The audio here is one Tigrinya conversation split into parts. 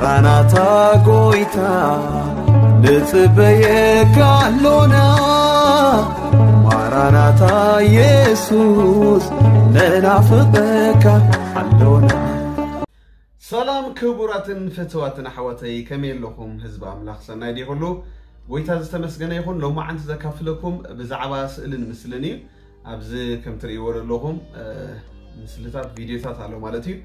ማራናታ ጎይታ ንጽበየካ ኣሎና። ማራናታ ኢየሱስ ንናፍቐካ ኣሎና። ሰላም ክቡራትን ፍትዋትን ኣሕዋተይ፣ ከመይ ኣለኹም? ህዝቢ ኣምላኽ ሰናይ ድዩ ኩሉ? ጎይታ ዝተመስገነ ይኹን። ሎማዓንቲ ዘካፍለኩም ብዛዕባ ስእልን ምስልን እዩ። ኣብዚ ከም ትርእይዎ ዘለኹም ምስልታት፣ ቪድዮታት ኣሎ ማለት እዩ።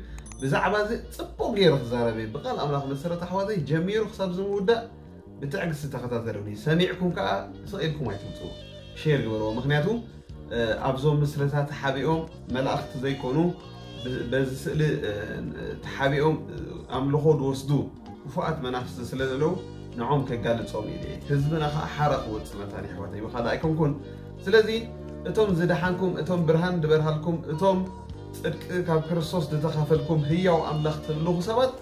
ብዛዕባ እዚ ጽቡቕ ገይረ ክዛረብ እየ። ብቃል ኣምላኽ መሰረት ኣሕዋተይ፣ ጀሚሩ ክሳብ ዝምውዳእ ብትዕግስቲ ተኸታተሉኒ። ሰሚዕኩም ከኣ ስቕ ኢልኩም ኣይትውጽኡ። ሼር ግበርዎ። ምኽንያቱ ኣብዞም ምስልታት ተሓቢኦም መላእኽቲ ዘይኮኑ፣ በዚ ስእሊ ተሓቢኦም ኣምልኾ ዝወስዱ ክፉኣት መናፍስቲ ስለ ዘለዉ፣ ንዖም ከጋልጾም ኢለ እየ። ህዝብና ኸዓ ሓራ ክወጽእ መታን፣ ኣሕዋተይ፣ ብኻልእ ኣይኮንኩን። ስለዚ እቶም ዝደሓንኩም፣ እቶም ብርሃን ዝበርሃልኩም፣ እቶም ጽድቂ ካብ ክርስቶስ ዝተኻፈልኩም ህያው ኣምላኽ ተምልኹ ሰባት፣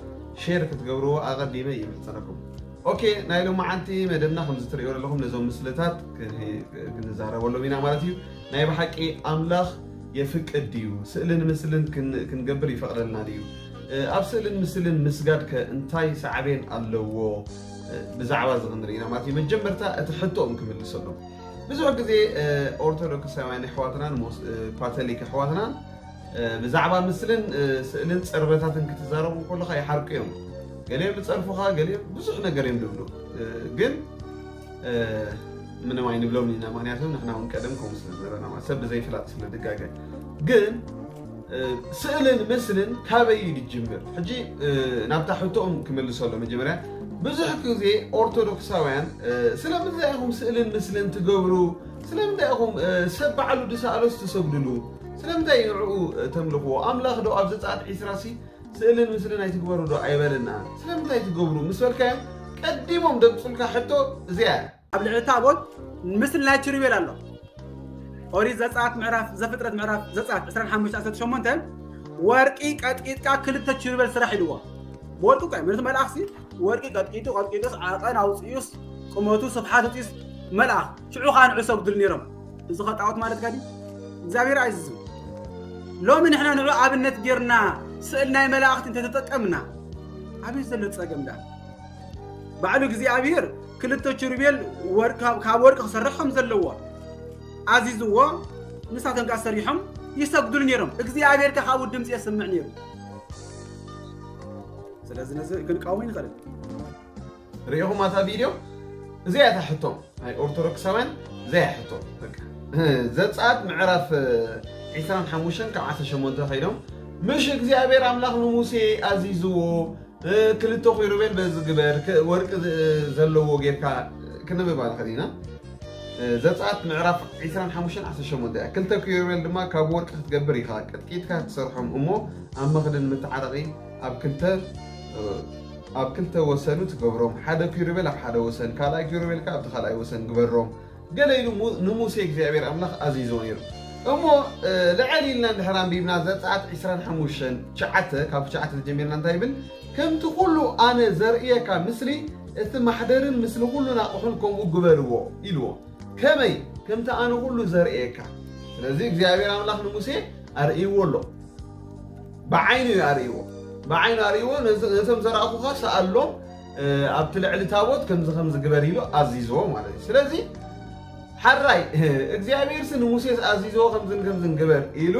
ሼር ክትገብርዎ ኣቐዲመ ይምሕጸነኩም። ኦኬ፣ ናይ ሎማዓንቲ መደብና ከምዚ ትርእይዎ ዘለኹም ነዞም ምስልታት ክን-፣ ክንዛረበሎም ኢና ማለት እዩ። ናይ ብሓቂ ኣምላኽ የፍቅድ ድዩ? ስእልን ምስልን ክን-፣ ክንገብር ይፈቕደልና ድዩ? እ፣ ኣብ ስእልን ምስልን ምስጋድ ከ እንታይ ሳዕቤን ኣለዎ? እ፣ ብዛዕባ እዚ ክንርኢ ኢና ማለት እዩ። መጀመርታ እቲ ሕቶኦም ክምልሰሎም። ብዙሕ ግዜ፣ እ፣ ኦርቶዶክሳውያን ኣሕዋትናን ሞስ-፣ እ፣ ካቶሊክ ኣሕዋትናን፣ እ፣ ብዛዕባ ምስልን፣ እ፣ ስእልን ጽርበታትን ክትዛረቡ ከለኻ ይሓርቁ እዮም። ገሊኦም ይጸርፉኻ፣ ገሊኦም ብዙሕ ነገር እዮም ዝብሉ። እ፣ ግን፣ እ፣ ምንም ኣይንብሎም ኢና፣ ምኽንያቱ ንሕና እውን ቀደም ከምኡ ስለ ዝነበርና፣ ማለት ሰብ ብዘይፍላጥ ስለ ዝጋገ። ግን፣ እ፣ ስእልን ምስልን ካበይ እዩ ዝጅምር? ሕጂ፣ እ፣ ናብታ ሕቶኦም ክምልሰሎ መጀመርያ፣ ብዙሕ ግዜ ኦርቶዶክሳውያን፣ እ፣ ስለምንታይ ኢኹም ስእልን ምስልን ትገብሩ? ስለምንታይ ኢኹም፣ እ፣ ሰብ ባዕሉ ዝሰኣሎስ ትሰግድሉ? ስለምንታይ ንዕኡ፣ እ፣ ተምልኽዎ? ኣምላኽ ዶ ኣብ ዘጸኣት ዒስራ ሲ ስእልን ምስልን ኣይትግበሩ ዶ ኣይበለና? ስለምንታይ ትገብሩ? ምስ በልካዮም ቀዲሞም ደምጹልካ ሕቶ እዚኣ እያ። ኣብ ልዕሊ ታቦት ምስሊ ናይ ኪሩቤል ኣሎ። ኦሪት ዘጸኣት ምዕራፍ፣ ዘፍጥረት ምዕራፍ ዘጸኣት ዕስራን ሓሙሽተን ዓሰርተ ሸሞንተ፣ ወርቂ ቀጥቂጥካ ክልተ ኪሩቤል ስራሕ ኢልዎ። ብወርቂ እኮ እዩ፣ ምክንያቱ መልኣኽሲ ወርቂ ቀጥቂጡ፣ ቀጥቂጡስ ዓቐን ኣውጺኡስ ቁመቱ ስፍሓት ኣውጺኡስ መልኣኽ፣ ሽዑ ኸኣ ንዑ ሰግዱሉ ነይሮም። እዚ ኸ ጣዖት ማለት ከ ድዩ? እግዚኣብሔር ኣይዝዝም። ሎሚ ንሕና ንዑ ኣብነት ጌርና ስእል ናይ መላእኽቲ እንተተጠቀምና፣ ኣበይ ዘሎ ጸገም ደኣ? ባዕሉ እግዚኣብሔር ክልተ ኪሩቤል ወርቂ፣ ካብ፣ ካብ ወርቂ ክሰርሕ ከም ዘለዎ ኣዚዝዎ፣ ንሳቶም ከኣ ሰሪሖም ይሰግዱሉ ነይሮም። እግዚኣብሔር ከኣ ካብኡ ድምፂ የስምዕ ነይሩ። ስለዚ ነዚ ክንቃወሞ ይንኽእል። ርኢኹም ኣታ ቪድዮ? እዚኣ እያ እታ ሕቶ ናይ ኦርቶዶክሳውያን፣ እዚኣ እያ ሕቶ። በቃ። ዘጸኣት ምዕራፍ ዒስራን ሓሙሽተን ካብ ዓሰርተ ሸሞንተ ከይዶም፣ ምሽ እግዚኣብሔር ኣምላኽ ንሙሴ ኣዚዝዎ፣ እ፣ ክልተ ኪሩቤል በዚ ግበር፣ ክ-፣ ወርቂ ዝ-፣ ዘለዎ ጌርካ፣ ክንብባ ንኽእል ኢና። እ፣ ዘጸኣት ምዕራፍ ዒስራን ሓሙሽተን ዓሰርተ ሸሞንተ እያ። ክልተ ኪሩቤል ድማ ካብ ወርቂ ክትገብር ኢኻ፣ ቀጥቂጥካ ትሰርሖም እሞ ኣብ መኽደን መተዓረቒ ኣብ ክልተ፣ እ፣ ኣብ ክልተ ወሰኑ ትገብሮም። ሓደ ኪሩቤል ኣብ ሓደ ወሰን፣ ካልኣይ ኪሩቤል ከኣ ኣብቲ ካልኣይ ወሰን ግበሮም። ገለ ኢሉ ሙ-፣ ንሙሴ እግዚኣብሔር ኣምላኽ ኣዚዝዎ ነይሩ። እሞ፣ እ፣ ልዕል ኢልና እንድሕር ኣንቢብና ዘጸኣት ዒስራን ሓሙሽተን ትሽዓተ፣ ካብ ትሽዓተ ተጀሚርና እንታይ ይብል? "ከምቲ ኩሉ ኣነ ዘርእየካ ምስሊ፣ እቲ ማሕደርን ምስሊ ኩሉ ናቕሑን ከምኡ ግበርዎ" ኢልዎ። ከመይ? ከምቲ ኣነ ኩሉ ዘርእየካ። ስለዚ እግዚኣብሔር ኣምላኽ ንሙሴ ኣርእይዎ ኣሎ። ብዓይኑ እዩ ኣርእይዎ። ብዓይኑ ኣርእይዎ፣ ነዚ-፣ ነቶም ዘርኣኹኻ ሰኣሎም፣ እ፣ ኣብቲ ልዕሊ ታቦት ከምዚ ከምዚ ግበር ኢሉ ኣዚዝዎ ማለት እዩ። ስለዚ ሓራይ እግዚኣብሔርሲ ንሙሴስ ኣዚዝዎ ከምዝን ከምዝን ግበር ኢሉ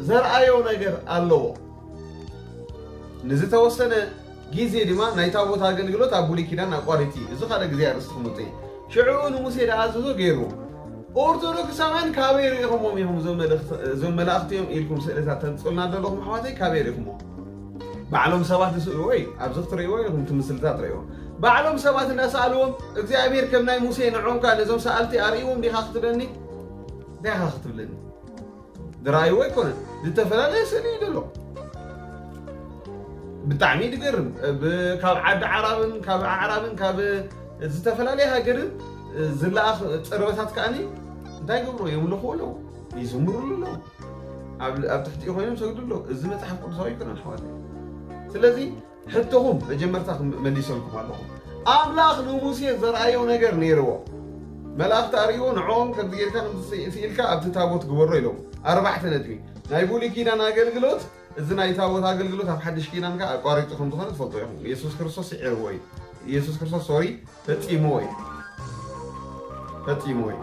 ዘርኣዮ ነገር ኣለዎ። ንዝተወሰነ ግዜ ድማ ናይ ታቦት ኣገልግሎት ኣብ ብሉይ ኪዳን ኣቋሪጹ እዩ። እዚ ካልእ ግዜ ኣርእስቲ ክመጽእ እዩ። ሽዑ ንሙሴ ዝኣዘዞ ገይርዎ። ኦርቶዶክሳውያን ካበይ ርኢኹሞም ኢኹም እዞም መልእኽቲ-፣ እዞም መላእኽቲ እዮም ኢልኩም ስእልታት ተምጽኡልና ዘለኹም ኣሕዋተይ፣ ካበይ ርኢኹሞ? ባዕሎም ሰባት ዝስእልዎ እዩ። ኣብዚ ክትርእይዎ ኢኹም፣ እቲ ምስልታት ርእይዎ። ባዕሎም ሰባት እንዳሰኣልዎም እግዚኣብሔር ከም ናይ ሙሴ ንዖም ከኣ ነዞም ሰኣልቲ ኣርእይዎም ዲኻ ክትብለኒ? እንታይ ኢኻ ክትብለኒ? ዝረኣይዎ ኣይኮነን። ዝተፈላለየ ስእሊ እዩ ዘሎ። ብጣዕሚ ዝገርም። ብ-፣ ካብ ዓዲ ዓራብን ካብ ኣዕራብን ካብ ዝተፈላለየ ሃገርን ዝለኣኽ ጽርበታት ከኣኒ እንታይ ይገብሩ? የምልኽዎ ኣለዉ፣ ይዝምሩሉ ኣለዉ። ኣብ፣ ኣብ ትሕቲኡ ኮይኖም ይሰግዱ ኣለዉ። እዚ መጽሓፍ ቅዱሳዊ ኣይኮነን ኣሕዋተይ። ስለዚ ሕቶኹም መጀመርታ ክም-፣ መሊሰልኩም ኣለኹ። ኣምላኽ ንሙሴ ዘርኣዮ ነገር ነይርዎ። መላእኽቲ ኣርእይዎ፣ ንዕኦም ከምዚ ጌርካ ከምዚ ስኢልካ ኣብቲ ታቦት ግበሮ ኢሎም። ኣርባዕተ ነጥቢ። ናይ ብሉይ ኪዳን ኣገልግሎት እዚ ናይ ታቦት ኣገልግሎት ኣብ ሓድሽ ኪዳን ከኣ ኣቋሪጹ ከም ዝኾነ ትፈልጡ ኢኹም። ኢየሱስ ክርስቶስ ስዒርዎ እዩ። ኢየሱስ ክርስቶስ፣ ሶሪ፣ ፈጺምዎ እዩ። ፈጺምዎ እዩ።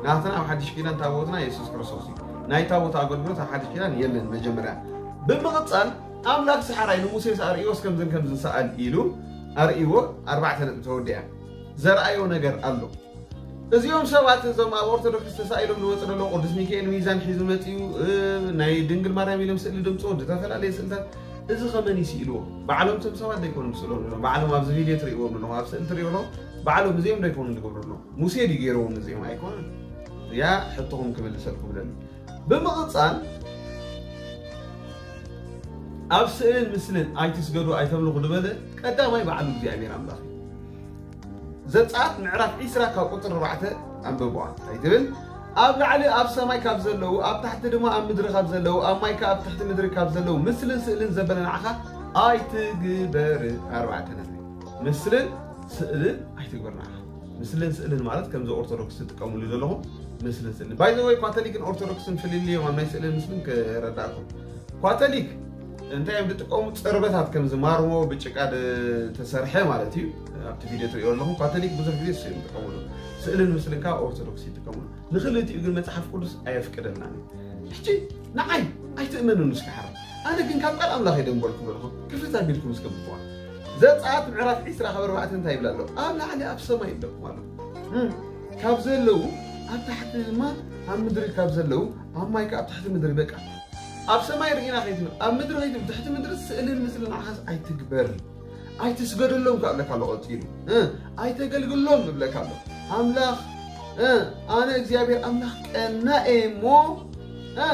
ናትና ኣብ ሓድሽ ኪዳን ታቦትና ኢየሱስ ክርስቶስ እዩ። ናይ ታቦት ኣገልግሎት ኣብ ሓድሽ ኪዳን የለን። መጀመርያ ብምቕጻል ኣምላኽ ሰሓራይ ንሙሴስ ኣርእዮስ ከምዝን ከምዝን ሰኣል ኢሉ ኣርእይዎ፣ ኣርባዕተ ነጥቢ ተወዲኣ። ዘርኣዮ ነገር ኣሎ። እዚኦም ሰባት እዞም ኣብ ኦርቶዶክስ ተሳኢሎም ዝመፁ ዘለዉ ቅዱስ ሚካኤል ሚዛን ሒዙ መፂኡ፣ እ፣ ናይ ድንግል ማርያም ኢሎም ስእሊ ድምፅዎ ዝተፈላለየ ስእልታት፣ እዚ ከመን ይስኢልዎ? ባዕሎም እቶም ሰባት ዶ ይኮኑ ምስእሎም ዘለዉ? ባዕሎም ኣብዚ ቪድዮ ትርእይዎም ዘለኹም፣ ኣብ ስእሊ ትርእይዎ ኣለኹም፣ ባዕሎም እዚኦም ዶ ይኮኑ ዝገብሩ ኣለዉ? ሙሴ ድዩ ገይርዎም እዚኦም? ኣይኮነን። እዚኣ ሕቶኹም ክምልሰልኩም ደሊ። ብምቕፃል ኣብ ስእልን ምስልን ኣይትስገዱ ኣይተምልኹ ዝበለ ቀዳማይ ባዕሉ እግዚኣብሔር ኣምላኽ እዩ። ዘጸኣት ምዕራፍ ዒስራ ካብ ቁጽሪ ኣርባዕተ ኣንብብዋ። እንታይ ትብል? ኣብ ላዕሊ ኣብ ሰማይ ካብ ዘለዉ፣ ኣብ ታሕቲ ድማ ኣብ ምድሪ ካብ ዘለዉ፣ ኣብ ማይ ከኣ ኣብ ትሕቲ ምድሪ ካብ ዘለዉ ምስልን ስእልን ዘበለ ንዓኻ ኣይትግበር። ኣርባዕተ ነጥቢ። ምስልን ስእልን ኣይትግበር ንዓኻ። ምስልን ስእልን ማለት ከምዚ ኦርቶዶክስ ትጥቀምሉ ዘለኹም ምስልን ስእልን። ባይ ዘ ወይ ካቶሊክን ኦርቶዶክስን ፍልልዮም ኣብ ናይ ስእልን ምስልን ክረዳእኩም። ካቶሊክ እንታይ እዮም ዝጥቀሙ? ጽርበታት ከምዚ ማርሞ ብጭቃ ዝተሰርሐ ማለት እዩ። ኣብቲ ቪድዮ ትርእዮ ኣለኹም። ካቶሊክ ብዙሕ ግዜ እሱ እዮም ዝጥቀምሉ። ስእልን ምስልን ከዓ ኦርቶዶክስ ይጥቀምሉ። ንኽልቲኡ ግን መጽሓፍ ቅዱስ ኣየፍቅደልናን እዩ። ሕጂ ንዓይ ኣይትእመኑን እስኪ ሓራ። ኣነ ግን ካብ ቃል ኣምላኽ እየ ደንበልኩም ኣለኹ። ክፍት ኣቢልኩም እስከ ብትዋ። ዘጸኣት ምዕራፍ ዒስራ ካብ ኣርባዕተ እንታይ ይብል ኣሎ? ኣብ ላዕሊ ኣብ ሰማይ ኣለኩም ኣሎ። እም፣ ካብ ዘለዉ ኣብ ታሕቲ ድማ ኣብ ምድሪ ካብ ዘለዉ ኣብ ማይ ከኣ ኣብ ትሕቲ ምድሪ በቃ። ኣብ ሰማይ ርኢና ከይትብል፣ ኣብ ምድሪ ከይትብል፣ ትሕቲ ምድሪ ስእልን ምስልን ንዓኻስ ኣይትግበር። ኣይትስገደሎም ከኣ እብለካ ኣሎ ቀጺሉ። እ፣ ኣይተገልግሎም እብለካ ኣሎ። ኣምላኽ፣ እ፣ ኣነ እግዚኣብሔር ኣምላኽ ቀናእ እየ እሞ፣ እ፣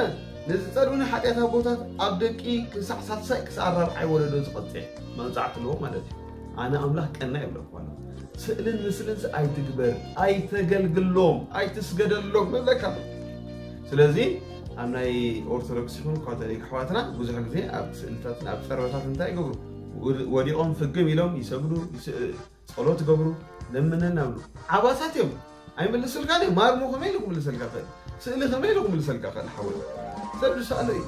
ንዝጸልኡኒ ሓጢኣት ኣቦታት ኣብ ደቂ ክሳዕ ሳልሳይ ክሳዕ ራብዓይ ወለዶ ዝቐጽዕ መቕጻዕቲ ኣለዎ ማለት እዩ። ኣነ ኣምላኽ ቀናእ እየ እብለካ ኣሎ። ስእልን ምስልን ኣይትግበር፣ ኣይተገልግሎም፣ ኣይትስገደሎም እብለካ ኣሎ። ስለዚ ኣብ ናይ ኦርቶዶክስ ይኹን ካቶሊክ ኣሕዋትና ብዙሕ ግዜ ኣብ ስእልታትን ኣብ ጸርበታት እንታይ ይገብሩ? ወድ-፣ ወዲቖም ፍግም ኢሎም ይሰግዱ፣ ይስ-፣ ጸሎት ይገብሩ፣ ለምነና ይብሉ። ዓባሳት እዮም። ኣይምልስልካን እዩ። ማርሞ ከመይ ኢሉ ክምልሰልካ ይኽእል? ስእሊ ከመይ ኢሉ ክምልሰልካ ይኽእል? ሓወይ ሰብ ዝሰኣሎ እዩ።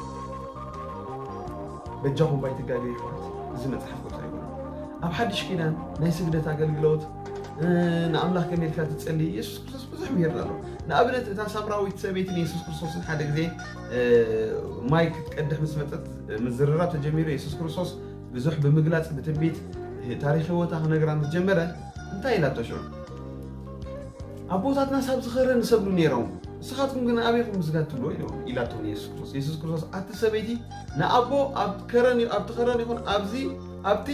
በጃኹም ባይትጋገ ይሕዋት፣ እዚ መጽሓፍ ቅዱስ ኣይኮነን። ኣብ ሓድሽ ኪዳን ናይ ስግደት ኣገልግሎት፣ እ፣ ንኣምላኽ ከመይ ኢልካ ትጸሊ? ኢየሱስ ክርስቶስ ብዙሕ ምሂርና ኣሎ። ንኣብነት እታ ሳምራዊት ሰበይቲ ንየሱስ ክርስቶስን ሓደ ግዜ፣ እ፣ ማይ ክትቀድሕ ምስ መጸት፣ እ፣ ምዝርራብ ተጀሚሩ። የሱስ ክርስቶስ ብዙሕ ብምግላጽ ብትንቢት ታሪኽ ህይወታ ክነግራ ምስ ጀመረ እንታይ ኢላቶ ሽዑ? ኣቦታትና ሳብ ዝኸረ ንሰብሉ ነይሮም፣ ንስኻትኩም ግን ኣበይኩም ምስጋድ ትብልዎ ኢሎም ኢላቶም የሱስ ክርስቶስ። የሱስ ክርስቶስ ኣቲ ሰበይቲ ንኣቦ ኣብ ከረን ዩ-፣ ኣብቲ ከረን ይኹን ኣብዚ ኣብቲ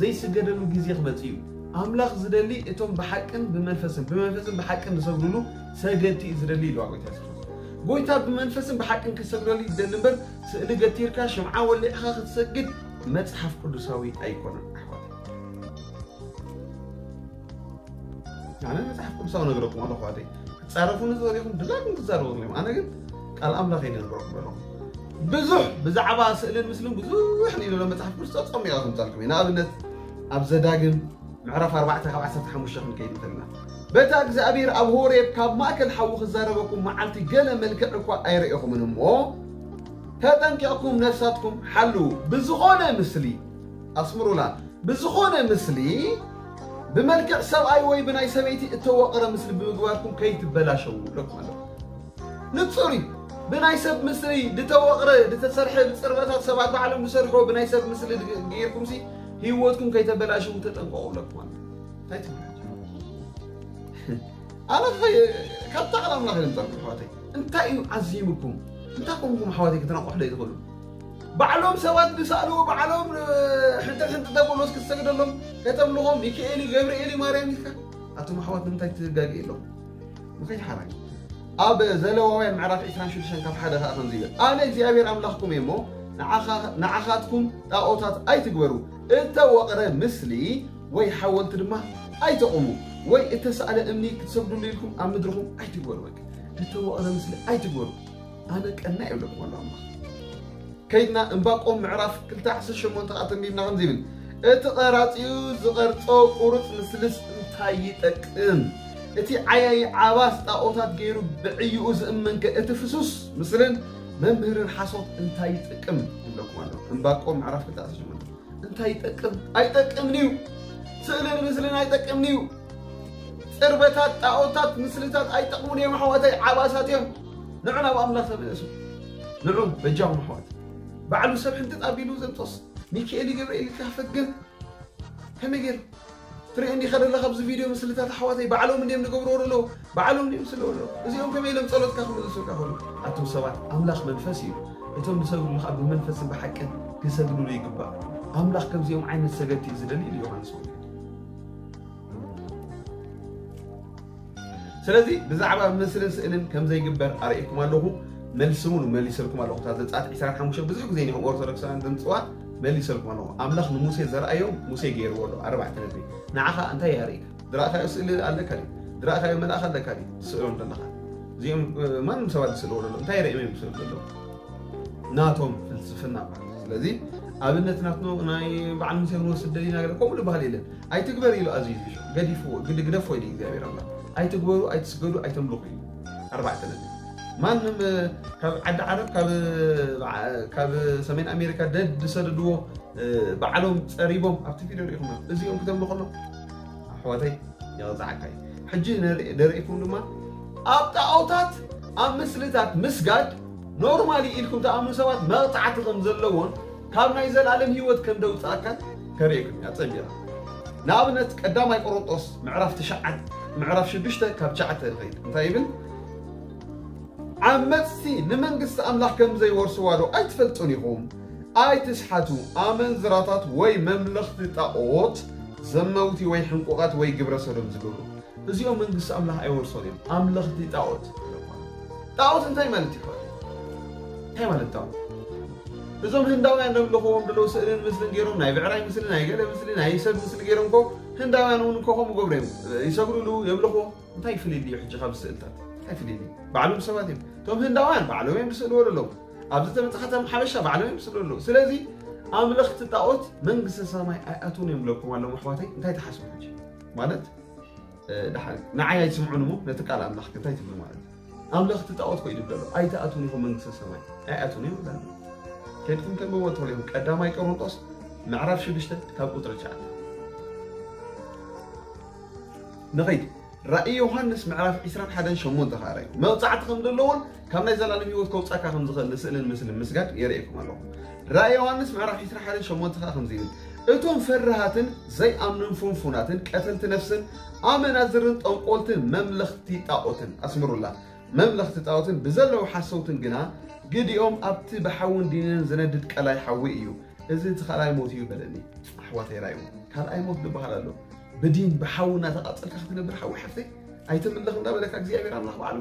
ዘይስገደሉ ግዜ ክመጽእ እዩ። ኣምላኽ ዝደሊ እቶም ብሓቅን ብመንፈስን፣ ብመንፈስን ብሓቅን ዝሰግዱሉ ሰገድቲ እዩ ዝደሊ ኢልዋ ጎይታ የሱስ ክርስቶስ። ጎይታ ብመንፈስን ብሓቅን ክትሰግደሉ ይደሊ እምበር ስእሊ ገቲርካ ሽምዓ ወሊዕኻ ክትሰግድ መጽሓፍ ቅዱሳዊ ኣይኮነን ኣሕዋት። ኣነ መጽሓፍ ቅዱሳዊ ነገረኩም ኣለኹ ኣተይ። ክትጻረፉኒ ዝደሊኹም ድላይኩም ክትዛረቡ ኣለኹም። ኣነ ግን ቃል ኣምላኽ እየ ዝነግረኩም ዘለኹ። ብዙሕ ብዛዕባ ስእልን ምስልን ብዙሕ ንኢሉ መጽሓፍ ቅዱስ ጸሚቐ ከምጻልኩም እየ። ንኣብነት ኣብ ዘዳግም ምዕራፍ ኣርባዕተ ካብ ዓሰርተ ሓሙሽተ ክንከይድ እንከለና፣ በታ እግዚኣብሔር ኣብ ሆሬብ ካብ ማእከል ሓዊ ክዛረበኩም መዓልቲ ገለ መልክዕ እኳ ኣይረኤኹምን እሞ፣ ተጠንቂቕኩም ነፍሳትኩም ሓልዉ። ብዝኾነ ምስሊ፣ ኣስምሩላ፣ ብዝኾነ ምስሊ፣ ብመልክዕ ሰብኣይ ወይ ብናይ ሰበይቲ እተወቕረ ምስሊ ብምግባርኩም ከይትበላሸዉ ኢለኩም ኣለኹ። ንጹር እዩ። ብናይ ሰብ ምስሊ ዝተወቕረ፣ ዝተሰርሐ፣ ብጽርበታት ሰባት ባዕሎም ዝሰርሕዎ ብናይ ሰብ ምስሊ ድ-፣ ገይርኩምሲ ህይወትኩም ከይተበላሽዉ ተጠንቀቑ ኢለኩም ኣለኹ። እንታይ ትብሉ? ኣነ ኸ-፣ ካብ ቃል ኣምላኽ ይምጻልኩም ኣሕዋተይ። እንታይ እዩ ዓዚምኩም? እንታይ ኮንኩም ኣሕዋተይ ክትነቕሑ ዘይትኽእሉ? ባዕሎም ሰባት ዝሰኣልዎ፣ ባዕሎም፣ እ፣ ሕንጥጥ ሕንጥጥ ተብሎስ ክትሰግደሎም፣ ከተምልኾም፣ ሚካኤል እዩ፣ ገብርኤል እዩ፣ ማርያም ኢልካ? ኣቱም ኣሕዋት ንምንታይ ትጋገ የለኹም? ምኸይድ ሓራይ። ኣብ ዘለዋውያን ምዕራፍ ዕስራን ሽዱሽተን ካብ ሓደ ኸኣ ከምዚ ይብል፣ ኣነ እግዚኣብሔር ኣምላኽኩም እየ እሞ፣ ንዓኻ-፣ ንዓኻትኩም ጣዖታት ኣይትግበሩ፣ እተወቕረ ምስሊ ወይ ሓወልቲ ድማ ኣይተቑሙ፣ ወይ እተሳእለ እምኒ ክትሰግዱሉ ኢልኩም ኣብ ምድርኹም ኣይትግበሩ። በቃ፣ እተወቕረ ምስሊ ኣይትግበሩ። ኣነ ቀና ይብለኩም ኣሎ ኣምላኽ። ከይድና እምባቆም ምዕራፍ ክልተ ዓሰርተ ሸሞንተ ከኣ ተንቢብና ከምዚ ይብል፣ እቲ ቀራጺኡ ዝቐርጾ ቁሩጽ ምስልስ እንታይ ይጠቅም? እቲ ዓያዪ ዓባስ ጣኦታት ገይሩ ብዕይኡ ዝእመንከ እቲ ፍሱስ ምስልን መምህርን ሓሶት እንታይ ይጠቅም? ይብለኩም ኣሎ። ዕንባቆም ምዕራፍ ክልተ ኣስር ጀምሩ። እንታይ ይጠቅም? ኣይጠቅምን እዩ። ስእልን ምስልን ኣይጠቅምን እዩ። ጽርበታት፣ ጣዖታት፣ ምስልታት ኣይጠቅሙን እዮም ኣሕዋተይ፣ ዓባሳት እዮም። ንዑ ናብ ኣምላኽ ተመለሱ። ንዑ በጃኹም ኣሕዋት። ባዕሉ ሰብ ሕንጥጥ ኣቢሉ ዘንጦስ፣ ሚካኤል ገብርኤል ኢልካ ፈግም። ከመይ ገይሩ? ትርኢ እንዲኻ ዘለኻ ኣብዚ ቪድዮ ምስልታት ኣሕዋተይ ባዕሎም እንድዮም ዝገብርዎ ዘለዉ፣ ባዕሎም እንድዮም ዝስልዎ ዘለዉ። እዚኦም ከመይ ኢሎም ጸሎትካ ክምልሱልካ ይኽእሉ? ኣቱም ሰባት፣ ኣምላኽ መንፈስ እዩ። እቶም ዝሰግዱሉ ከዓ ብመንፈስን ብሓቅን ክሰግዱሉ ይግባእ። ኣምላኽ ከምዚኦም ዓይነት ሰገድቲ እዩ ዝደሊ ኢሉ ዮሃንስ ወንጌል። ስለዚ ብዛዕባ ምስልን ስእልን ከም ዘይግበር ኣርእየኩም ኣለኹ። መልሲ እውን መሊሰልኩም ኣለኹ። እታ ዘጸኣት ዕስራን ሓሙሽተን ብዙሕ ግዜ ንኹም ኦርቶዶክሳውያን ድምፅዋ መሊሰልኩም ኣለኹ። ኣምላኽ ንሙሴ ዘርኣዮ ሙሴ ገይርዎ ኣሎ። ኣርባዕተ ነጥቢ። ንዓኻ እንታይ የርእይካ? ዝረኣኻዮ ስእሊ ኣለካ ድዩ? ዝረኣኻዮ መልኣኽ ኣለካ ድዩ? ትስእሎም ዘለኻ። እዚኦም፣ እ፣ ማንም ሰባት ዝስእልዎ ዘሎ። እንታይ ርእዮም እዮም ዝስእሉ ዘለዉ? ናቶም ፍልስፍና ማለት። ስለዚ ኣብነት ናትኖ ናይ በዓል ሙሴ ክንወስድ ደሊና ገለ ከምኡ ዝበሃል የለን። ኣይትግበር ኢሉ ኣዝዩ እዩ። ገዲፍዎ፣ ግድ-፣ ግደፎ ኢሉ እግዚኣብሔር ኣምላኽ። ኣይትግበሩ፣ ኣይትስገዱ፣ ኣይተምልኹ ኢሉ። ኣርባዕተ ነጥቢ። ማንም፣ እ፣ ካብ ዓዲ ዓረብ፣ ካብ፣ እ፣ በዓ-፣ ካብ ሰሜን ኣሜሪካ ደድ ዝሰደድዎ፣ እ፣ ባዕሎም ጸሪቦም ኣብቲ ቪድዮ ርኢኹም። እዚኦም ክተምልኹ ኣለኹም። ኣሕዋተይ፣ የቕጽዓካ እዩ። ሕጂ ነርኢ-፣ ደርእኩም ድማ ኣብ ጣዖታት፣ ኣብ ምስልታት ምስጋድ ኖርማሊ ኢልኩም ትኣምኑ ሰባት መቕጻዕቲ ከም ዘለዎን ካብ ናይ ዘላለም ህይወት ከም ደውጻእካን ከርእየኩም እያ ጸሚራ። ንኣብነት ቀዳማይ ቆሮንጦስ ምዕራፍ ትሽዓተ፣ ምዕራፍ ሽዱሽተ ካብ ትሽዓተ ንኸይድ። እንታይ ይብል? ዓመጽቲ ንመንግስቲ ኣምላኽ ከም ዘይወርስዋ ዶ ኣይትፈልጡን ኢኹም? ኣይትስሓቱ። ኣመንዝራታት ወይ መምለኽቲ ጣኦት፣ ዘመውቲ ወይ ሕንቁቓት ወይ ግብረ ሰዶም ዝገብሩ፣ እዚኦም መንግስቲ ኣምላኽ ኣይወርሶን እዮም። ኣምለኽቲ ጣኦት። ጣኦት እንታይ ማለት እዩ? እንታይ ማለት ጣኦት? እዞም ህንዳውያን ዘምልኽዎም ዘለዉ ስእልን ምስልን ገይሮም፣ ናይ ብዕራይ ምስሊ፣ ናይ ገለ ምስሊ፣ ናይ ሰብ ምስሊ ገይሮም እኮ ህንዳውያን እውን እኮ ከምኡ ገብሩ እዮም። ይሰግዱሉ፣ የምልኽዎ። እንታይ ፍልልዩ ሕጂ ካብ ስእልታት? እንታይ ፍልልዩ? ባዕሎም ሰባት እዮም። እቶም ህንዳውያን ባዕሎም እዮም ዝስእልዎ ዘለዉ። ኣብዚ ተመጻኻቶም ሓበሻ ባዕሎም እዮም ዝስእልዎ ዘለዉ። ስለዚ ኣምለኽቲ ጣኦት መንግስተ ሰማይ ኣይኣትዉን እዮም ዝብለኩም ኣለኹ ኣሕዋተይ። እንታይ ትሓስቡ ሕጂ? ማለት፣ እ፣ ደሓር ንዓይ ኣይትስምዑን እሞ ነቲ ቃል ኣምላኽ እንታይ ትብሉ ማለት እዩ? ኣምለኽቲ ጣኦት ኮ ይድብደሉ። ኣይትኣትዉን ኢኹም መንግስተ ሰማይ። ኣይኣትዉን እዮም ይብለና። ከድኩም ተንብቦ ትኽእሉ ኢኹም። ቀዳማይ ቆሮንጦስ ምዕራፍ ሽዱሽተ ካብ ቁጽሪ ትሽዓተ። ንኸይድ። ራእይ ዮሃንስ ምዕራፍ ዕስራን ሓደን ሸሞንተ ከኣ ራእዩ። መቕጻዕቲ ከም ዘለዎን ካብ ናይ ዘላለም ህይወት ከውጻካ ከም ዝኽእል ንስእልን ምስልን ምስጋድ የርእየኩም ኣለኹ። ራእይ ዮሃንስ ምዕራፍ ዕስራን ሓደን ሸሞንተ ከኣ ከምዚ ይብል፣ እቶም ፈራሃትን ዘይኣምኑን ፍንፉናትን ቀተልቲ ነፍስን ኣመናዝርን ጠንቆልትን መምለኽቲ ጣኦትን፣ ኣስምሩላ፣ መምለኽቲ ጣኦትን ብዘለዉ ሓሰውትን ግና ግዲኦም ኣብቲ ብሓውን ዲንን ዝነድድ ቀላይ ሓዊ እዩ። እዚ እቲ ካልኣይ ሞት እዩ በለኒ። ኣሕዋተይ ራእዩ ካልኣይ ሞት ዝበሃል ኣሎ። ብዲን ብሓዊ እናተቃጸልካ ክትነብር ሓዊ ሓፍተይ ኣይትምለኽ እንዳበለካ እግዚኣብሔር ኣምላኽ ባዕሉ።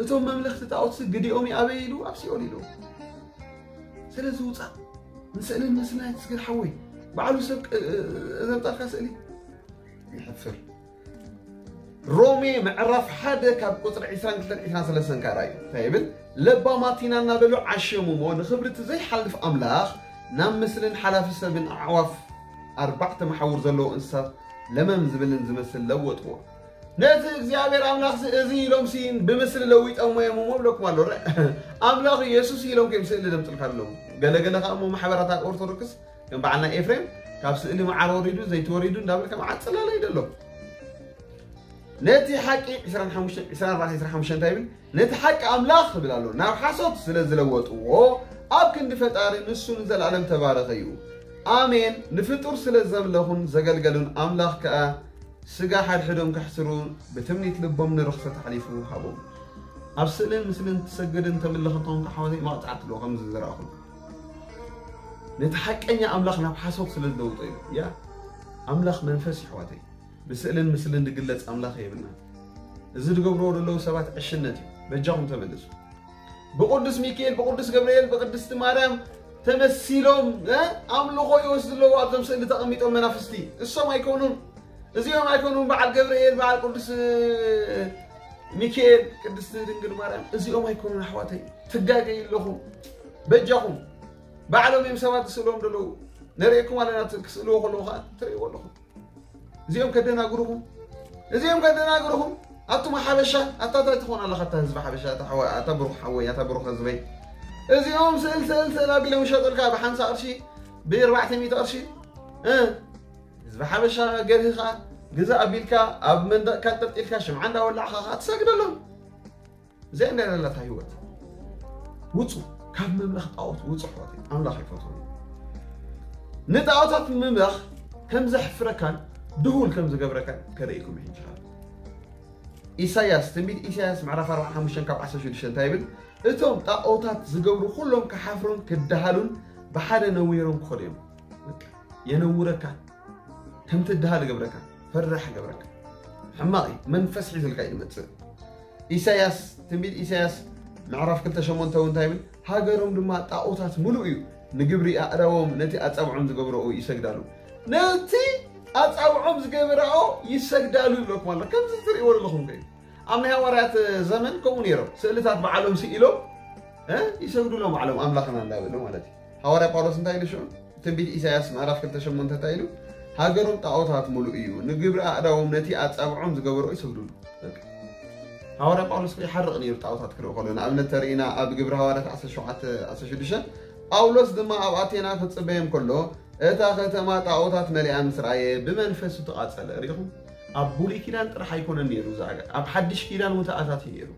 እቶም መምለኽቲ ጣኦትሲ ግዲኦም ኣበይ ኢሉ ኣብ ሲኦል ኢሉ። ስለዚ ውጻእ ንስእልን ምስልን ኣይትስገድ ሓወይ። ባዕሉ ሰብ ቅ-፣ ዘምጣልካ ስእሊ ይሕፍር። ሮሜ ምዕራፍ ሓደ ካብ ቁጽሪ ዕስራን ክልተን ዕስራን ሰለስተን ካራ እዩ። እንታይ ይብል? ለባማት ኢና እናበሉ ዓሸሙ እሞ ንኽብሪ እቲ ዘይሓልፍ ኣምላኽ ናብ ምስልን ሓላፊ ሰብን ኣዕዋፍ ኣርባዕተ መሓውር ዘለዎ እንስሳት ለመም ዝብልን ዝመስል ለወጥዎ። ነቲ እግዚኣብሔር ኣምላኽሲ እዚ ኢሎምሲ ብምስሊ ለዊጦሞ እዮም እሞ እብለኩም ኣሎ። ረ-፣ ኣምላኽ ኢየሱስ ኢሎም ከም ስእሊ ደምጥልካ ኣለዉ። ገለገለ ከኣ እሞ ማሕበራት ኣብ ኦርቶዶክስ ከም በዓል ናይ ኤፍሬም ካብ ስእሊ መዓር ወሪዱ ዘይቲ ወሪዱ እንዳበልካ መዓር ጽላለ ይደሎ። ነቲ ሓቂ ዕስራን ሓሙሽተን፣ ዕስራን ኣርባዕተን ዕስራን ሓሙሽተን እንታይ ይብል? ነቲ ሓቂ ኣምላኽ ክብል ኣሎ። ናብ ሓሶት ስለ ዝለወጥዎ ኣብ ክንዲ ፈጣሪ ንሱ ንዘለኣለም ተባረኸ እዩ። ኣሜን። ንፍጡር ስለ ዘምለኹን ዘገልገሉን ኣምላኽ ከኣ ስጋ ሓድሕዶም ከሕስሩ ብትምኒት ልቦም ንርኽሰት ኣሕሊፉ ሃቦም። ኣብ ስእልን ምስልን ትሰግድን ተምልኽን ተኾንካ ሓወተይ መቕጻዕቲ ኣለዎ ከምዚ ዝረኣኹም። ነቲ ሓቀኛ ኣምላኽ ናብ ሓሶት ስለ ዝለውጦ እዩ። ያ ኣምላኽ መንፈስ እዩ ኣሕዋተይ። ብስእልን ምስልን ዝግለጽ ኣምላኽ የብልና። እዚ ዝገብርዎ ዘለዉ ሰባት ዕሽነት እዩ። በጃኹም ተመለሱ። ብቅዱስ ሚካኤል፣ ብቅዱስ ገብርኤል፣ ብቅድስቲ ማርያም ተመሲሎም፣ እ፣ ኣምልኾ ይወስዱ ኣለዉ ኣብዞም ስእሊ ተቐሚጦም መናፍስቲ። እሶም ኣይኮኑን። እዚኦም ኣይኮኑን በዓል ገብርኤል፣ በዓል ቅዱስ፣ እ፣ ሚካኤል፣ ቅድስቲ ድንግል ማርያም። እዚኦም ኣይኮኑን ኣሕዋተይ። ትጋገዩ ኣለኹም። በጃኹም። ባዕሎም እዮም ሰባት ዝስእልዎም ዘለዉ። ነርእየኩም ኣለና፣ ክስእልዎ ከለዉ ኸዓ ትርእይዎ ኣለኹም። እዚኦም ከደናግሩኹም፣ እዚኦም ከደናግሩኹም። ኣቱም ሓበሻ፣ ኣታ እንታይ ትኾን ኣለኻ? ኣታ ህዝቢ ሓበሻ፣ ኣታ ሓወ-፣ ኣታ ብሩኽ ሓወይ፣ ኣታ ብሩኽ ህዝበይ። እዚኦም ስእል ስእል ስእል ኣቢሎም ይሸጡልካ ብሓምሳ ቅርሺ፣ ብኣርባዕተ ሚእቲ ቅርሺ። እ፣ ህዝቢ ሓበሻ ገርህኻ ግዛእ ኣቢልካ ኣብ መንደቕካ ጠልጢልካ ሽምዓ እንዳወላዕኻ ኸዓ ትሰግደሎም። እዚኣ እንዳ ዘለታ ህይወት። ውፁ፣ ካብ ምምላኽ ጣዖት ውፁ ኣሕዋተይ። ኣምላኽ ኣይፈትዎ። ንጣዖታት ምምላኽ ከም ዘሕፍረካን ድሁል ከም ዝገብረካን ከርእይኩም ሕጂ። ኢሳያስ፣ ትንቢት ኢሳያስ ምዕራፍ ኣርባዓን ሓሙሽተን ካብ ዓሰርተ ሽዱሽተ እንታይ ይብል? እቶም ጣዖታት ዝገብሩ ኩሎም ክሓፍሩን ክደሃሉን ብሓደ ነዊሮም ክኸዱ እዮም። በቃ፣ የነውረካ፣ ከም ትደሃል ይገብረካ፣ ፈራሕ ይገብረካ። ሕማቕ እዩ፣ መንፈስ ሒዙልካ እዩ ዝመጽእ። ኢሳያስ፣ ትንቢት ኢሳያስ ምዕራፍ ክልተ ሸሞንተ እውን እንታይ ይብል? ሃገሮም ድማ ጣዖታት ምሉእ እዩ፣ ንግብሪ ኣእዳዎም ነቲ ኣጻብዖም ዝገብረኦ ይሰግዳሉ። ነቲ ኣጻብዖም ዝገብረኦ ይሰግዳሉ ይብለኩም ኣሎ። ከምዚ ትርእይዎ ዘለኹም ከ እዩ። ኣብ ናይ ሃዋርያት ዘመን ከምኡ ነይሮም። ስእልታት ባዕሎም ስኢሎም፣ እ፣ ይሰግዱሎም ባዕሎም ኣምላኽና እንዳበሉ ማለት እዩ። ሃዋርያ ጳውሎስ እንታይ ኢሉ ሽዑ? ትንቢት ኢሳያስ ምዕራፍ ክልተ ሸሞንተ እንታይ ኢሉ? ሃገሮም ጣዖታት ምሉእ እዩ፣ ንግብሪ ኣእዳዎም ነቲ ኣጻብዖም ዝገበርኦ ይሰግዱሉ። በቃ። ሃዋርያ ጳውሎስ እኮ ይሓርቕ ነይሩ ጣዖታት ክርኢ ከሎ። ንኣብነት ተርእና ኣብ ግብሪ ሃዋርያት ዓሰርተ ሸውዓተ ዓሰርተ ሽዱሽተ፣ ጳውሎስ ድማ ኣብ ኣቴና ክጽበዮም ከሎ፣ እታ ከተማ ጣዖታት መሊኣ ምስ ረኣየ ብመንፈሱ ተቓጸለ። ርኢኹም? ኣብ ብሉይ ኪዳን ጥራሕ ኣይኮነን ነይሩ እዚ ኣጋ-፣ ኣብ ሓድሽ ኪዳን እውን ተኣታትዩ ነይሩ።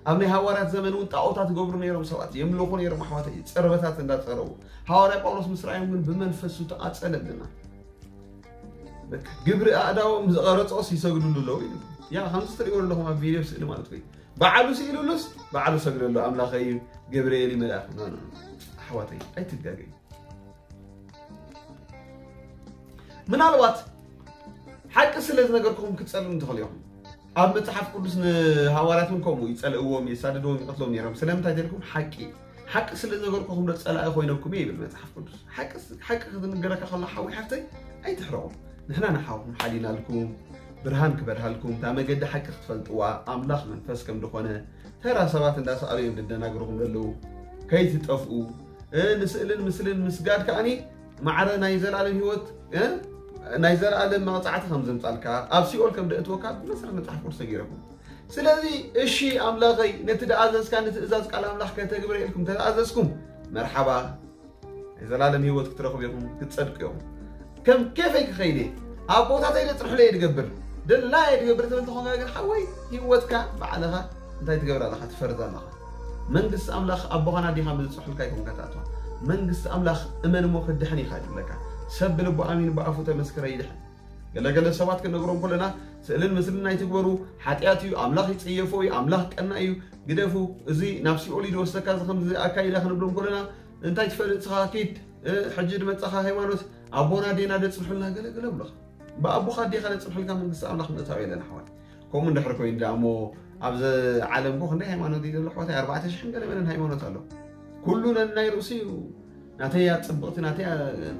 ኣብ ናይ ሃዋርያት ዘመን እውን ጣዖታት ይገብሩ ነይሮም ሰባት፣ የምልኹ ነይሮም ኣሕዋተይ፣ ጽርበታት እንዳጸረቡ። ሃዋርያ ጳውሎስ ምስ ረኣዮም ግን ብመንፈሱ ተቓጸለ ብልና። በቃ፣ ግብሪ ኣእዳዎም ዝቐረጾስ ይሰግዱሉ ኣለዉ ኢሉ። ያ፣ ከምዚ ትርእይዎ ኣለኹም ኣብ ቪድዮ ስእሊ ማለት ወይ። ባዕሉ ስኢሉሉስ፣ ባዕሉ ሰግደሉ ኣምላኸይ እዩ፣ ገብርኤል እዩ መልኣኽ። ኖ፣ ኖ፣ ኖ። ኣሕዋተይ፣ ኣይትጋገዩ። ምናልባት ሓቂ ስለ ዝነገርኩም ክትጸልኡ ትኽእሉ ኢኹም። ኣብ መጽሓፍ ቅዱስ ንሃዋርያት እውን ከምኡ ይጸልእዎም፣ የሳድድዎም፣ ይቐትሎም ነይሮም። ስለምንታይ ተልኩም? ሓቂ። ሓቂ ስለ ዝነገርኩኹም ዶ ጸላኢ ኮይነኩም እየ ይብል መጽሓፍ ቅዱስ። ሓቂ ስ-፣ ሓቂ ክትንገረካ ከሎ ሓዊ ሓፍተይ ኣይትሕረቑ። ንሕና ንሓውኩም ሓሊናልኩም፣ ብርሃን ክበርሃልኩም፣ እታ መገዲ ሓቂ ክትፈልጥዋ፣ ኣምላኽ መንፈስ ከም ዝኾነ፣ ተራ ሰባት እንዳሰኣሉ እዮም ዝደናግርኹም ዘለዉ። ከይትጠፍኡ፣ እ፣ ንስእልን ምስልን ምስጋድ ከኣኒ ማዕረ ናይ ዘላለም ህይወት፣ እ፣ ናይ ዘላለም መቕጻዕቲ ከም ዘምጻልካ፣ ኣብ ሲኦል ከም ደእትወካ ብመሰረት መጽሓፍ ቅዱስ ተገይረኩም። ስለዚ፣ እሺ ኣምላኸይ፣ ነቲ ደኣዘዝካኒ ትእዛዝ ቃል ኣምላኽ ከተግብረ ኢልኩም ተተኣዘዝኩም፣ መርሓባ፣ ናይ ዘላለም ህይወት ክትረኽቡ ኢኹም፣ ክትጸድቁ ኢኹም። ከም ኬፈይ ክኸይድ እየ፣ ኣቦታተይ ዘጽንሑለይ እየ ድገብር፣ ደላየ ድገብር ትብል ተኾንካ ግን፣ ሓወይ፣ ህይወትካ ባዕልኻ እንታይ ትገብር ኣለኻ? ትፈርድ ኣለኻ። መንግስቲ ኣምላኽ ኣቦኻን ኣዴኻን ብዝጽንሑልካ ኣይኮንካ ትኣትዋ። መንግስቲ ኣምላኽ እመን እሞ ክትድሕን ኢኻ ይብለካ። ሰብ ብልቡ ኣሚኑ ብኣፉ ተመስከረ ይድሕን። ገለገለ ሰባት ክንነግሮም ከለና፣ ስእልን ምስልን ኣይትግበሩ፣ ሓጢኣት እዩ፣ ኣምላኽ ይጽየፎ እዩ፣ ኣምላኽ ቀና እዩ፣ ግደፉ፣ እዚ ናብ ሲኦል እዩ ዝወስደካ፣ እዚ ከምዚ ኣካይዳ ክንብሎም ከለና፣ እንታይ ትፈልጥ ንስኻ? ኪድ፣ እ፣ ሕጂ ድመጻኻ ሃይማኖት፣ ኣቦና ኣዴና ደጽንሑልና፣ ገለገለ ብለኻ። ብኣቦኻ ኣዴኻ ደጽንሑልካ መንግስቲ ኣምላኽ ምእታው የለን ኣሕዋት። ከምኡ እንድሕር ኮይኑ ደኣ እሞ፣ ኣብዚ ዓለም እኮ ክንደይ ሃይማኖት እዩ ዘሎ ኣሕዋተይ? ኣርባዕተ ሽሕን ገለ መለን ሃይማኖት ኣሎ። ኩሉ ነናይ ርእሱ እዩ። ናተይ እያ ጽብቕቲ፣ ናተይ እያ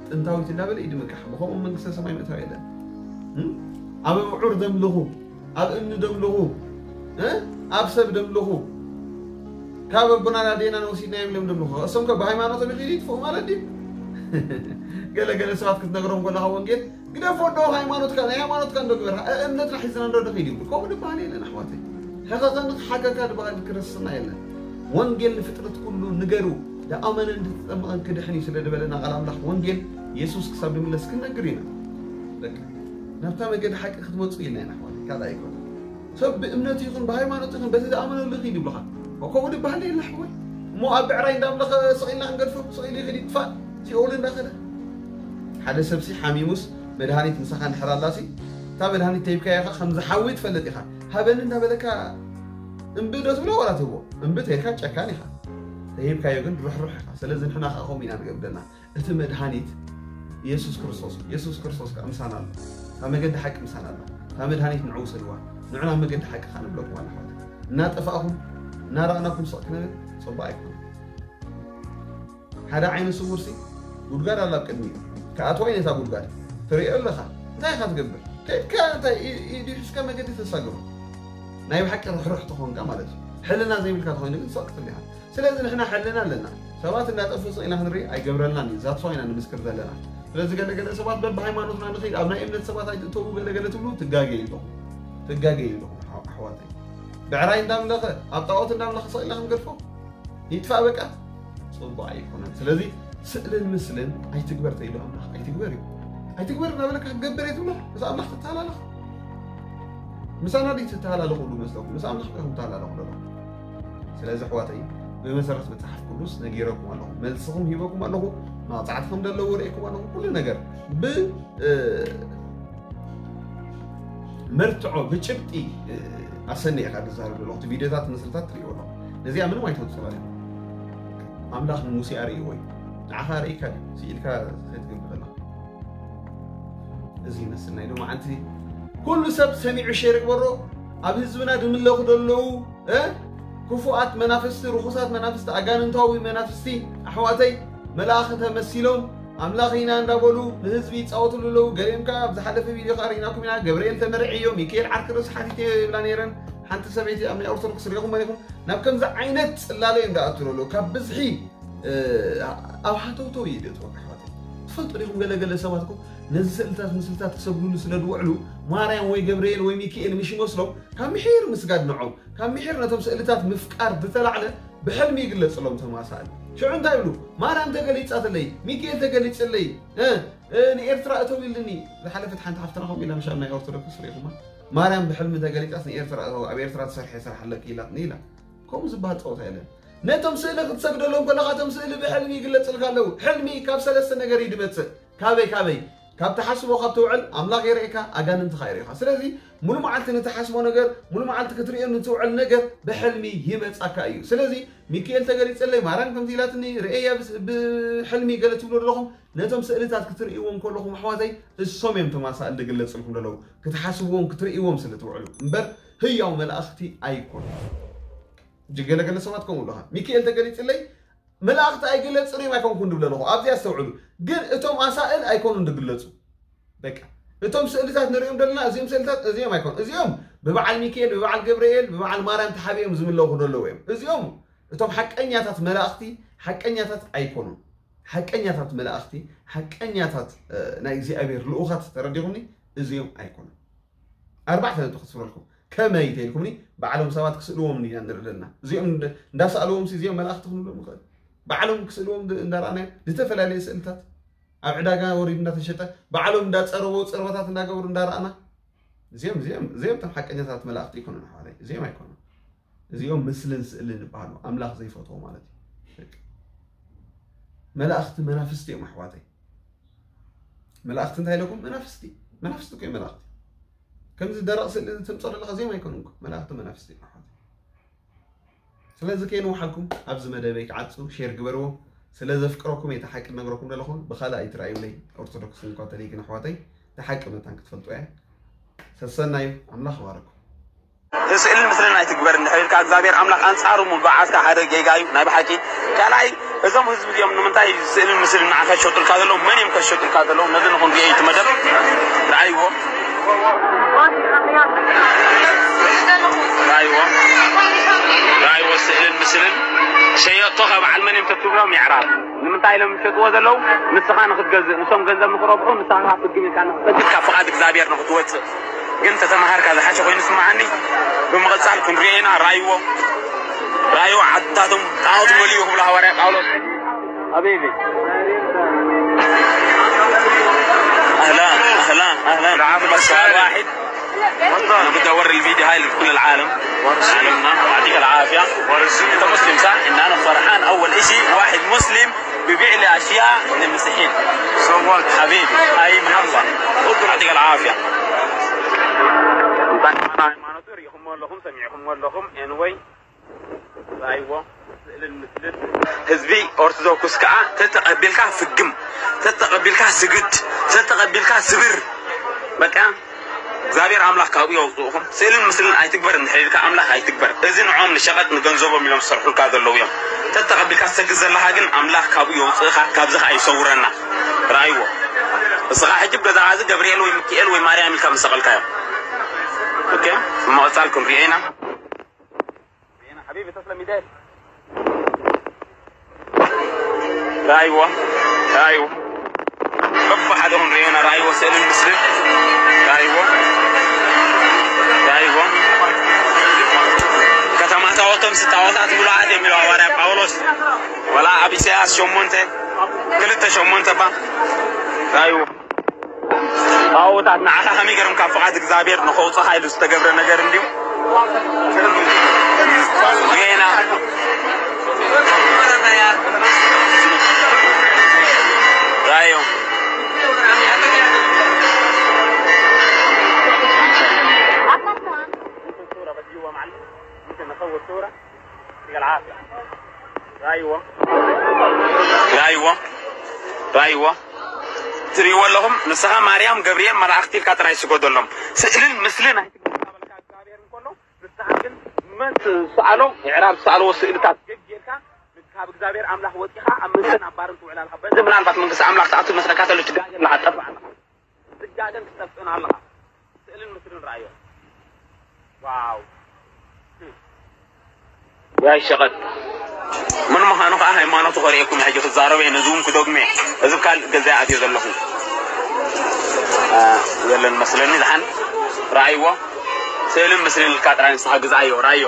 ጥንታዊት እንዳበለ እዩ ድምካሕ። ብኸምኡ መንግስተ ሰማይ ምእታው የለን። እም? ኣብ ኣብዑር ደምልኹ፣ ኣብ እምኒ ደምልኹ፣ እ? ኣብ ሰብ ደምልኹ። ካብ ኣቦናን ኣዴናን ወሲድናዮም ኢሎም ደምልኹ። እሶም ከ ብሃይማኖቶም ይኸይዱ ይጥፍኡ ማለት ድዩ? ገለ ገለ ሰባት ክትነግሮም ከለኻ ወንጌል፣ ግደፎ እንዶ ሃይማኖትካ፣ ናይ ሃይማኖትካ እንዶ ግበር። እ-፣ እምነትና ሒዝና እንዶ ንኸይድ ይብሉ። ከምኡ ዝበሃል የለን ኣሕዋተይ። ሕቐቐኒ ክሓገካ ዝበሃል ክርስትና የለን። ወንጌል ንፍጥረት ኩሉ ንገሩ፣ ዝኣመነን ዝተጠመቐን ክድሕን እዩ ስለ ዝበለና ቃል ኣምላኽ፣ ወንጌል የሱስ ክሳብ ድምለስ ክንነግር ኢና። በቃ፣ ናብታ መገዲ ሓቂ ክትመጹ ኢልና ኢና ኣሕዋተይ፣ ካልእ ኣይኮነን። ሰብ ብእምነቱ ይኹን ብሃይማኖቱ ይኹን በቲ ዝኣመነሉ ይኺድ ይብሉኻ። ከምኡ ዝበሃል የለን ኣሕዋይ። እሞ ኣብ ብዕራይ እንዳምለኸ ስቕ ኢልና ክንገድፎ፣ ስቕ ኢሉ ይኺድ ይጥፋእ፣ ሲኦል እንዳኸደ። ሓደ ሰብሲ ሓሚሙስ መድሃኒት ምሳኻ እንድሕር ኣላሲ፣ እታ መድሃኒት ተሂብካያ ኢኻ፣ ከምዚ ሓዊ ትፈልጥ ኢኻ። ሃበኒ እንዳበለካ እምቢ ዶ ትብሎ ዋላ ትህቦ? እምቢ ተይልካ ጨካን ኢኻ። ተሂብካዮ ግን ርሕሩሕ ኢኻ። ስለዚ ንሕና ኸዓ ከምኡ ኢና ንገብር ዘለና። እቲ መድሃኒት የሱስ ክርስቶስ እዩ። የሱስ ክርስቶስ ከኣ ምሳና ኣሎ። እታ መገዲ ሓቂ ምሳና ኣሎ። እታ መድሃኒት ንዑ ውሰድዋ። ንዑ ናብ መገዲ ሓቂ ከኣ ንብለኩም ኣሕዋት። እናጠፋእኩም፣ እናረኣናኩም ስቕ ክንብል ጽቡቕ ኣይኮነን። ሓደ ዓይነ ስውርሲ ጉድጓድ ኣላ ኣብ ቅድሚኡ። ክኣትዋ እዩ ነታ ጉድጓድ። ትርእዮ ኣለኻ። እንታይ ኢኻ ትገብር? ከይድካ እንታይ ኢ-፣ ኢዱ ሒዝካ መገዲ ተሳግሮ። ናይ ብሓቂ ርሕሩሕ ተኾንካ ማለት እዩ። ሕልና ዘይብልካ ተኾይኑ ግን ስቕ ክትብል ኢኻ። ስለዚ ንሕና ሕልና ኣለና። ሰባት እናጠፍኡ ስቕ ኢልና ክንርኢ ኣይገብረልናን እዩ። ዛትስ ዋይ ኢና ንምስክር ዘለና። ስለዚ ገለ ገለ ሰባት በብሃይማኖትና ንኽይድ፣ ኣብ ናይ እምነት ሰባት ኣይትእተዉ ገለ ገለ ትብሉ፣ ትጋገዩ ኣለኹም። ትጋገዩ ኣለኹም ኣሕ-፣ ኣሕዋተይ። ብዕራይ እንዳምለኸ፣ ኣብ ጣዖት እንዳምለኸ ስቕ ኢልና ክንገድፎ? ይጥፋእ በቃ። ፅቡቅ ኣይኮነን። ስለዚ ስእልን ምስልን ኣይትግበር ተይሉ ኣምላኽ ኣይትግበር እዩ። ኣይትግበር እናበለካ ክትገብር እየ ትብሎ፣ ምስ ኣምላኽ ትተሃላለኽ። ምሳና ድዩ ትተሃላለኹ? ሉ መስለኩም፣ ምስ ኣምላኽ ኢኹም ትተሃላለኹ ዘለኹም። ስለዚ ኣሕዋተይ፣ ብመሰረት መጽሓፍ ቅዱስ ነጊረኩም ኣለኹ፣ መልስኹም ሂበኩም ኣለኹ፣ መቕጻዕቲ ከም ዘለዎ ርእየኩም ኣለኹ። ኩሉ ነገር ብ እ፣ መርትዖ ብጭብጢ፣ እ፣ ኣሰኒ ኢኻ ትዛረብ ዘለኹ። እቲ ቪድዮታት ምስልታት ትሪእዎ ኣለኹ። ነዚኣ ምንም ኣይትወጽእ ማለት እዩ። ኣምላኽ ንሙሴ ኣርእይዎ እዩ። ንዓኻ ኣርእይካ ድዩ? ስኢልካ ዘይትገብር ዘለኻ። እዚ ይመስል ናይ ሎማዓንቲ። ኩሉ ሰብ ሰሚዑ ሼር ይግበሮ። ኣብ ህዝብና ድምለኹ ዘለዉ፣ እ፣ ክፉኣት መናፍስቲ፣ ርኹሳት መናፍስቲ፣ ኣጋንንታዊ መናፍስቲ፣ ኣሕዋተይ፣ መላእኽቲ ተመሲሎም ኣምላኽ ኢና እንዳበሉ ንህዝቢ ይጻወትሉ ኣለዉ። ገሊኦም ከኣ ኣብ ዝሓለፈ ቪድዮ ከኣ ርኢናኩም ኢና። ገብርኤል ተመርዕዮ፣ ሚካኤል ዓርኪ ርእሲ ሓቲተ ይብላ ነይረን። ሓንቲ ሰበይቲ ኣብ ናይ ኦርቶዶክስ ርኢኹም መሪኹም። ናብ ከምዚ ዓይነት ጽላለ እዮም ዝኣትዉ ኣለዉ። ካብ ብዝሒ፣ እ፣ ኣብ ሃተውተው እዩ ዘእትወካ ኣሕዋተይ። ትፈልጡ ዲኹም፣ ገለ ገለ ሰባት እኮ ነዚ ስእልታት ምስልታት ክሰግዱሉ ስለ ዝውዕሉ ማርያም ወይ ገብርኤል ወይ ሚካኤል ምሽ ይመስሎም፣ ካብ ምሒር ምስጋድ ንዖም፣ ካብ ምሒር ነቶም ስእልታት ምፍቃር ዝተላዕለ ብሕልሚ ይግለጽሎም ተማሳእል። ሽዑ እንታይ ይብሉ? ማርያም ተገሊጻትለይ፣ ሚካኤል ተገሊጽለይ፣ እ፣ እ፣ ንኤርትራ እተው ኢልኒ። ዝሓለፈት ሓንቲ ሓፍትና ከምኡ ኢላ፣ ምሻል ናይ ኦርቶዶክስ ርኢኹማ? ማርያም ብሕልሚ ተገሊጻስ ንኤርትራ እተው፣ ኣብ ኤርትራ ትሰርሒ ስራሕ ኣለኪ ኢላትኒ ኢላ። ከምኡ ዝበሃል ጸወታ የለን። ነቶም ስእሊ ክትሰግደሎም ከለኻ፣ እቶም ስእሊ ብሕልሚ ይግለጽልካ ኣለዉ። ሕልሚ ካብ ሰለስተ ነገር እዩ ድመጽእ። ካበይ፣ ካበይ? ካብ ትሓስቦ ካብ ትውዕል፣ ኣምላኽ የርእየካ፣ ኣጋንንቲ ኸኣ የርእዩኻ። ስለዚ፣ ሙሉ መዓልቲ ንትሓስቦ ነገር፣ ሙሉ መዓልቲ ክትርእዮ ንትውዕል ነገር ብሕልሚ ይመጻካ እዩ። ስለዚ፣ ሚካኤል ተገሊጸለይ፣ ማርያም ከምዚ ኢላትኒ፣ ርእየያ ብስ-፣ ብሕልሚ ገለ ትብሉ ኣለኹም። ነቶም ስእልታት ክትርእይዎም ከለኹም ኣሕዋተይ፣ እሶም እዮም ተማሳእል ዝግለጽልኩም ዘለዉ። ክትሓስብዎም፣ ክትርእይዎም ስለ ትውዕሉ። እምበር ህያው መላእኽቲ ኣይኮኑን። እጂ ገለ ገለ ሰባት ከምኡ ኣለኻ። ሚካኤል ተገሊጽለይ፣ መላእኽቲ ኣይግለጽን እዮም ኣይኮንኩን ድብል ኣለኹ። ኣብዚ ኣስተውዕሉ። ግን እቶም ኣሳእል ኣይኮኑን ድግለጹ። በቃ። እቶም ስእልታት ንርእዮም ዘለና፣ እዚኦም ስእልታት፣ እዚኦም ኣይኮኑ። እዚኦም ብበዓል ሚካኤል፣ ብበዓል ገብርኤል፣ ብበዓል ማርያም ተሓቢኦም ዝምለኹ ዘለዉ እዮም። እዚኦም፣ እቶም ሓቀኛታት መላእኽቲ፣ ሓቀኛታት ኣይኮኑን። ሓቀኛታት መላእኽቲ፣ ሓቀኛታት፣ እ፣ ናይ እግዚኣብሔር ልኡኻት ተረዲኹምኒ፣ እዚኦም ኣይኮኑን። ኣርባዕተ ነጥቢ ክስፍረልኩም። ከመይ ተይልኩምኒ፣ ባዕሎም ሰባት ክስእልዎም ኢና ንርኢ ዘለና። እዚኦም እንደ-፣ እንዳሰኣልዎም ሲ እዚኦም መላእኽቲ ክንብሎም ንኽእል። ባዕሎም ክስእልዎም ድ-፣ እንዳረኣናዮም፣ ዝተፈላለየ ስእልታት ኣብ ዕዳጋ ወሪዱ እንዳተሸጠ፣ ባዕሎም እንዳጸረቦ፣ ጸረባታት እንዳገበሩ እንዳረኣና፣ እዚኦም፣ እዚኦም፣ እዚኦም እቶም ሓቀኛታት መላእኽቲ ኣይኮኑን ኣሕዋተይ። እዚኦም ኣይኮኑን። እዚኦም ምስልን ስእልን ይበሃሉ። ኣምላኽ ዘይፈትዎ ማለት እዩ። በቃ። መላእኽቲ መናፍስቲ እዮም ኣሕዋተይ። መላእኽቲ እንታይ ኢለኩም? መናፍስቲ። መናፍስቲ እኮ እዮም መላእኽቲ። ከምዚ ደረቕ ስእሊ ተምጽኦ ዘለኻ እዚኦም ኣይኮኑን እኮ። መላእኽቲ መናፍስቲ እዮም ኣሕዋተይ። ስለዚ ከየንውሓልኩም ኣብዚ መደበይ ክዓጹ ሼር ግበርዎ። ስለ ዘፍቅረኩም እየ እቲ ሓቂ ነግረኩም ዘለኹ። ብኻልእ ኣይትረኣዩለይ። ኦርቶዶክስን ካቶሊክን ኣሕዋተይ፣ እቲ ሓቂ መታን ክትፈልጡ እያ። ሰሰናዩ፣ ኣምላኽ ይባረኩም። ስእልን ምስልን ኣይትግበር እንድሕር ኢልካ እግዚኣብሔር ኣምላኽ ኣንጻሩ ምውጋዓትካ ሓደ ጌጋ እዩ ናይ ብሓቂ። ካልኣይ እዞም ህዝቢ እዚኦም ንምንታይ ስእልን ምስልን ንዓኻ ዝሸጡልካ ዘለዉ? መን እዮም ከሸጡልካ ዘለዉ? ነዚ ንኽንሪኦ እዩ እቲ መደብ። ረኣይዎ። ረኣይዎ። ረኣይዎ ስእልን ምስልን ሸየጥቶ ካብ በዓል መን እዮም ተትብሎም የዕራብ። ንምንታይ ኢሎም ዝሸጥዎ ዘለዉ? ንስኻ ንኽትገዝእ፣ ንሶም ገንዘብ ንኽረብሑ፣ ንስኻ ፍግም ኢልካ ንኽትሰግድ፣ ካብ ፍቓድ እግዚኣብሔር ንኽትወጽእ። ግን ተተማሃርካ ዝሓሸ ኮይኑ ስምዓኒ። ብምቕጻል ክንሪኦ ኢና። ራይዎ፣ ራይዎ ዓድታቶም ጣዖት መሊኡ ክብሉ ሃዋርያ ጳውሎስ። حبيبي. أهلًا، أهلًا، أهلًا. العافية. بس سؤال واحد. أنا بدي أوري الفيديو هاي لكل العالم. عالمنا، يعطيك العافية. أنت مسلم صح؟ إن أنا فرحان أول إشي واحد مسلم ببيع لي أشياء للمسيحيين. حبيبي، هاي محبة. يعطيك العافية. ሃይማኖቱ ርኢኹሞ ኣለኹም፣ ሰሚዕኹሞ ኣለኹም። Anyway፣ ራይዎ፣ ስእልን ምስልን። ህዝቢ ኦርቶዶክስ ከዓ ተተቐቢልካ ፍግም፣ ተተቐቢልካ ስግድ፣ ተተቐቢልካ ስብር። በቃ፣ እግዚኣብሔር ኣምላኽ ካብኡ የውፅእኹም። ስእልን ምስልን ኣይትግበር እንድሕር ኢልካ ኣምላኽ ኣይትግበር። እዚ ንዖም ንሸቐጥ ንገንዘቦም ኢሎም ዝሰርሑልካ ዘለዉ እዮም። ተተቐቢልካ ትሰግድ ዘለኻ ግን ኣምላኽ ካብኡ የውፅእኻ፣ ካብዚ ከዓ ይሰውረና። ራይዎ። እስኻ ሕጂ ገዛ እዚ ገብርኤል ወይ ሚካኤል ወይ ማርያም ኢልካ ምሰቐልካዮ። ኦኬ፣ ብምቕፃል ክንሪኦ ኢና። ሪኤና ሓቢቢ ተስለ ሚካኤል። ራይዎ፣ ራይዎ። በብሓደ ክንሪኦ ኢና። ራይዎ ስእልን ምስልን። ራይዎ፣ ራይዎ። ከተማታወቶ ምስ ጣዖታት ምሉኣት እዮም ኢሉ ሃዋርያ ጳውሎስ። ወላ ኣብ ኢሳያስ ሸሞንተ ክልተ ሸሞንተ ባ ራእይዎ። ጣዖታት ንዓኻ ከመይ ገይሮም ካብ ፍቓድ እግዚኣብሔር ንኸውፅኻ ኢሉ ዝተገብረ ነገር እንድዩ። ጌና ራእዮም። ራእይዎ። ራእይዎ። ራእይዎ። ትርእይዎ ኣለኹም። ንስኻ ማርያም ገብርኤል መላእኽቲ ኢልካ ጥራይ ስገደሎም። ስእልን ምስልን ኣይትግበረልካ እግዚኣብሔር እንከሎ፣ ንስኻ ግን መን ትስኣሎ? ምዕራብ ዝሰኣልዎ ስእልታት ገግ ጌርካ ካብ እግዚኣብሔር ኣምላኽ ወፂኻ ኣብ ምስልን ኣብ ባርን ትውዕል ኣለኻ። በዚ ምናልባት መንግስቲ ኣምላኽ ትኣቱ መስለካ ተሎ ትጋገ ኣለኻ፣ ትጠፍእ ኣለኻ። ትጋገን ትጠፍእን ኣለኻ። ስእልን ምስልን ረኣዮ። ዋው። ያይ ሸቐጥ። ምን ምዃኑ ከዓ ሃይማኖቱ ከርእየኩም ሕጂ ክዛረበ እየ፣ ነዚ እውን ክደግሞ እየ። እዚ ካልእ ገዛ ኣትዮ ዘለኹ። አ፣ የለን መስለኒ ዝሓን። ረኣይዎ። ስእልን ምስልን ኢልካ ጥራይ ንስኻ ግዛዮ፣ ረኣዮ።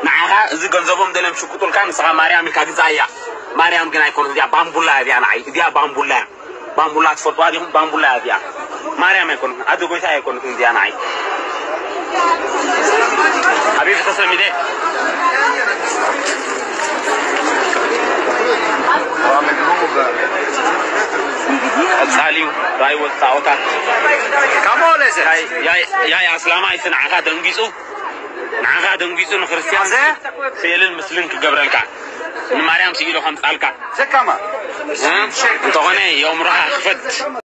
ንዓኻ እዚ ገንዘቦም ደልዮም ሽቁጡልካ፣ ንስኻ ማርያም ኢልካ ግዛያ። ማርያም ግን ኣይኮነትን፣ እዚኣ ባምቡላ እያ፣ እዚኣ ንዓይ። እዚኣ ባምቡላ እያ። ባምቡላ ትፈልጥዋ ዲኹም? ባምቡላ እያ እዚኣ። ማርያም ኣይኮነትን፣ ኣደ ጎይታ ኣይኮነትን እዚኣ ንዓይ። ሓቢቢ ተሰሚደ። ቀጻሊ ራእይ ወጣ ኦታት። ያይ፣ ያይ፣ ያይ ኣስላማይ እቲ ንዓኻ ደንጊጹ፣ ንዓኻ ደንጊጹ ንክርስትያን ስእልን ምስልን ክገብረልካ፣ ንማርያም ስኢሉ ከምጻልካ። ዘካማ። እ? እንተኾነ የእምሮኻ ክፈት።